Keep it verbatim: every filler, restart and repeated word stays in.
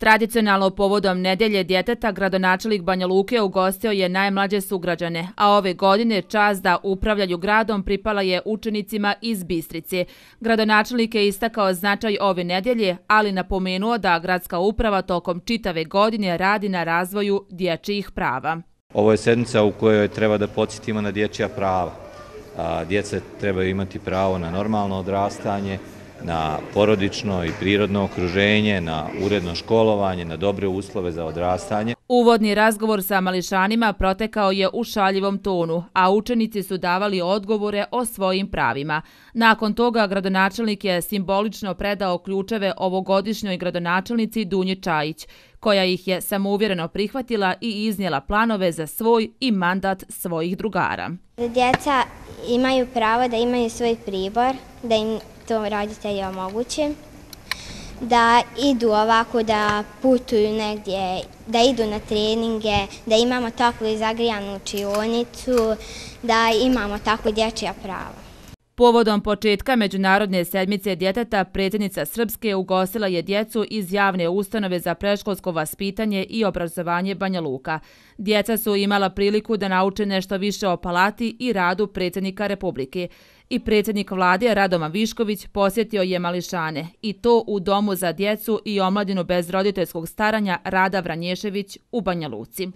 Tradicionalno povodom Nedelje djeteta gradonačelnik Banja Luke ugostio je najmlađe sugrađane, a ove godine čast da upravljaju gradom pripala je učenicima iz Bistrice. Gradonačelnik je istakao značaj ove nedelje, ali napomenuo da gradska uprava tokom čitave godine radi na razvoju dječjih prava. Ovo je sedmica u kojoj treba da podsjetimo na dječja prava. Djeca trebaju imati pravo na normalno odrastanje, na porodično i prirodno okruženje, na uredno školovanje, na dobre uslove za odrastanje. Uvodni razgovor sa mališanima protekao je u šaljivom tonu, a učenici su davali odgovore o svojim pravima. Nakon toga gradonačelnik je simbolično predao ključeve ovogodišnjoj gradonačelnici Dunji Čajić, koja ih je samouvjereno prihvatila i iznijela planove za svoj i mandat svojih drugara. Djeca imaju pravo da imaju svoj pribor, da im to roditelji omoguće, da idu ovako, da putuju negdje, da idu na treninge, da imamo toplu i zagrijanu učionicu, da imamo tako dječja prava. Povodom početka Međunarodne sedmice djeteta, predsjednica Srpske ugostila je djecu iz javne ustanove za predškolsko vaspitanje i obrazovanje Banja Luka. Djeca su imala priliku da nauče nešto više o palati i radu predsjednika Republike. I predsjednik vlade Radovan Višković posjetio je mališane, i to u Domu za djecu i omladinu bez roditeljskog staranja Rada Vranješević u Banja Luci.